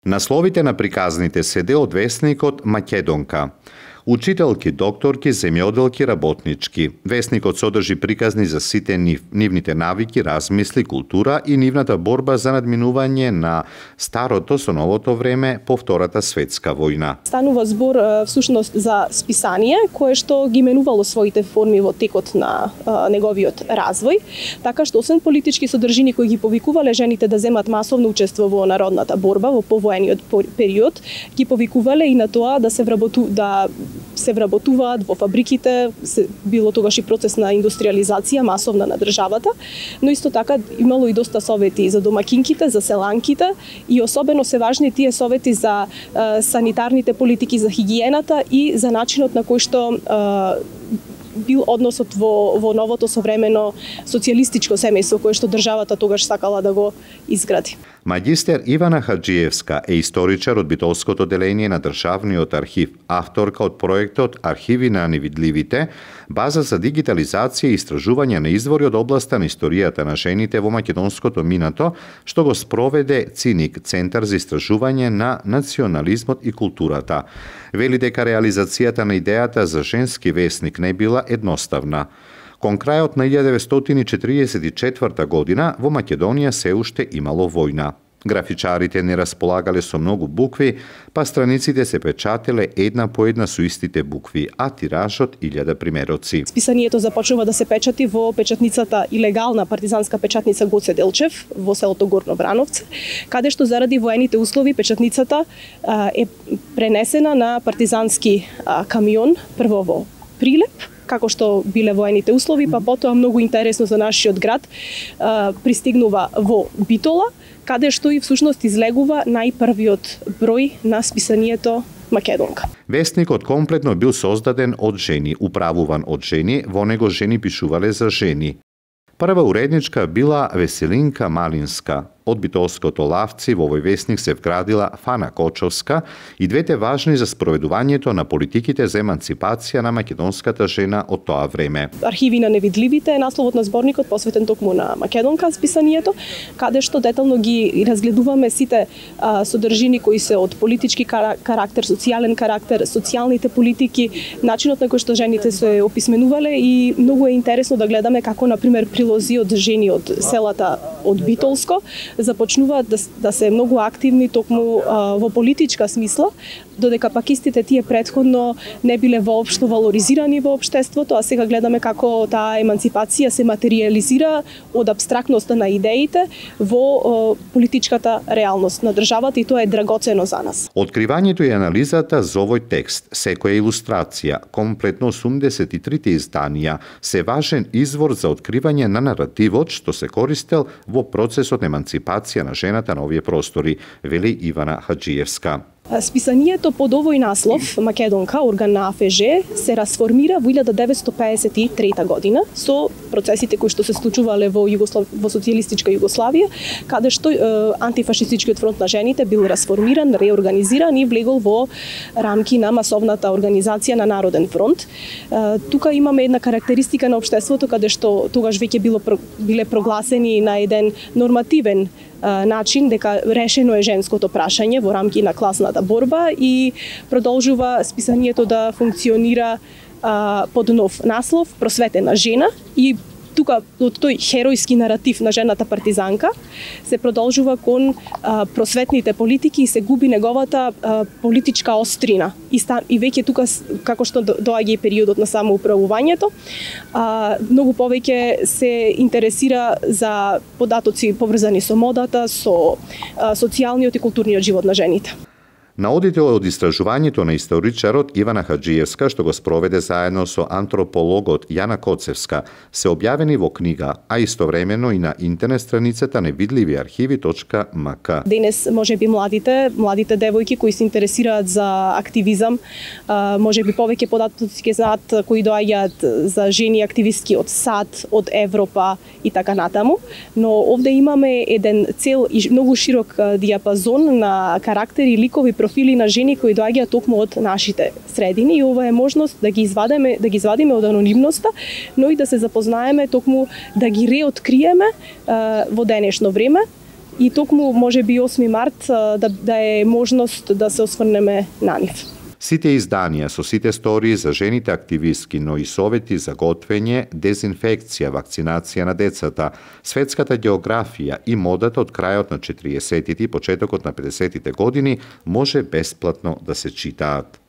Насловите на приказните се дел од весникот Македонка. Учителки, докторки, земјоделки, работнички. Весникот содржи приказни за сите нивните навики, размисли, култура и нивната борба за надминување на старото со новото време по Втората светска војна. Станува збор всушност за списание кое што ги менувало своите форми во текот на неговиот развој, така што освен политички содржини кои ги повикувале жените да земат масовно учество во народната борба во повоениот период, ги повикувале и на тоа да се вработуваат во фабриките, било тогаш и процес на индустриализација масовна на државата, но исто така имало и доста совети за домакинките, за селанките и особено се важни тие совети за санитарните политики, за хигиената и за начинот на кој што бил односот во новото современо социјалистичко семејство кое што државата тогаш сакала да го изгради. Магистер Ивана Хаджиевска е историчар од Битолското деление на Државниот архив, авторка од проектот Архиви на невидливите, база за дигитализација и истражување на извори од областа на историјата на жените во македонското минато, што го спроведе ЦИНИК, Центар за истражување на национализмот и културата. Вели дека реализацијата на идејата за женски весник не била едноставна. Кон крајот на 1944 година во Македонија се уште имало војна. Графичарите не располагале со многу букви, па страниците се печателе една по една со истите букви, а тиражот 1000 примероци. Списанието започнува да се печати во печатницата илегална партизанска печатница Гоце Делчев во селото Горно Брановце, каде што заради воените услови печатницата е пренесена на партизански камион, прво во Прилеп, како што биле воените услови, па потоа многу интересно за нашиот град пристигнува во Битола, каде што и всушност излегува најпрвиот број на списанието Македонка. Весникот комплетно бил создаден од жени, управуван од жени, во него жени пишувале за жени. Прва уредничка била Веселинка Малинска. Од Битолското лавци во овој весник се вградила Фана Кочовска и двете важни за спроведувањето на политиките за еманципација на македонската жена од тоа време. Архиви на невидливите е насловот на зборникот посветен токму на Македонка списанието, каде што детално ги разгледуваме сите содржини кои се од политички карактер, социјален карактер, социјалните политики, начинот на кој што жените се описменувале и многу е интересно да гледаме како на пример прилози од жени од селата од Битолско започнуваат да се многу активни токму во политичка смисла, додека пак истите тие претходно не биле воопшто валоризирани во општеството, а сега гледаме како таа еманципација се материализира од апстрактноста на идеите во политичката реалност на државата и тоа е драгоцено за нас. Откривањето и анализата за овој текст, секоја илустрација, комплетно 83 изданија, се важен извор за откривање на наративот што се користел во процесот на еманципација на жената на овие простори, вели Ивана Хаджиевска. Списанието под овој наслов, Македонка, орган на АФЖ, се расформира во 1953 година со процесите кои што се случувале во социјалистичка Југославија, каде што антифашистичкиот фронт на жените бил расформиран, реорганизиран и влегол во рамки на масовната организација на Народен фронт. Тука имаме една карактеристика на општеството каде што тогаш веќе биле прогласени на еден нормативен начин дека решено е женското прашање во рамки на класната борба и продолжува списанието да функционира под нов наслов Просветена жена и тука од тој херојски наратив на жената партизанка се продолжува кон просветните политики и се губи неговата политичка острина. И веќе тука, како што доаѓа и периодот на самоуправувањето, многу повеќе се интересира за податоци поврзани со модата, со социјалниот и културниот живот на жените. Наодите од истражувањето на историчарот Ивана Хаджиевска, што го спроведе заедно со антропологот Јана Коцевска, се објавени во книга, а истовремено и на интернет страницата невидливиархиви.мк. Денес можеби младите девојки кои се интересираат за активизам, можеби повеќе податоци ќе знаат кои доаѓаат за жени активистки од САД, од Европа и така натаму, но овде имаме еден цел и многу широк диапазон на карактери, ликови, профили на жени кои доаѓаат токму од нашите средини и ова е можност да ги извадиме од анонимноста, но и да се запознаеме токму да ги реоткриеме во денешно време и токму можеби 8 март да е можност да се осврнеме на нив. Сите изданија со сите стории за жените активистки, но и совети за готвење, дезинфекција, вакцинација на децата, светската географија и модата од крајот на 40-тите и почетокот на 50-тите години може бесплатно да се читаат.